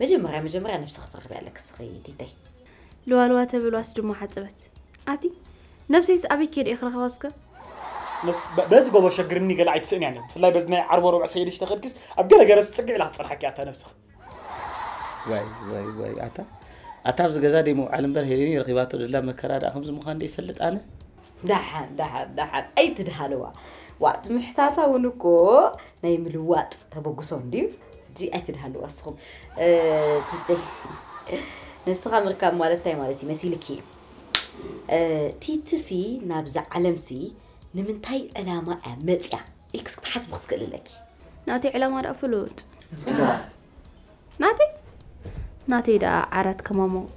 መጀመርያ መጀመርያ ነብስኺ ክትረኽቢ ኣለኪ እስኺ ቲተይ። ልዋልዋ ተብል ዋስ ድማ ሓፀበት። ኣቲ ነብሰይስ ኣበይ ከይደ እየ ክረኸባ እስከ? በዚ ጎቦ ሸግርኒ ገለ ኣይትስእን እያ። ብፍላይ በዚ ናይ ዓርቦ ረብዕ ሰይድሽ ተኸድክስ ኣብ ገለ ገረብ ትፅግዕ ኢላ ክትፀንሓኪ ኣታ ነብስኺ። ዋይ ዋይ ዋይ ኣታ ኣታ ኣብዚ ገዛ ደይ ምውዓል እምበር ሄሌኒ ረኺባቶ ደላ መከራ ደኣ ከምዚ ምዃን ደይ ይፈልጥ ኣነ። ዳሓን ዳሓን ዳሓን ኣይትድሃልዋ። ዋእ እቲ ምሕታታ እውን እኮ ናይ ምልዋጥ ተበግሶ እንድዩ። ሕጂ ኣይትድሃልዋ እስኹም። እ፣ ቲተይ ነብስኻ ምርካብ ማለት እንታይ ማለት እዩ መሲልኪ? እ፣ ቲትሲ ናብዛ ዓለምሲ ንምንታይ ዕላማ እያ መፅያ ኢልክስ ክትሓስቢ ክትክእል ኣለኪ። ናተይ ዕላማ ደኣ ፍሉጥ። ናተይ ናተይ ደኣ ዓራት ከማሞቕ።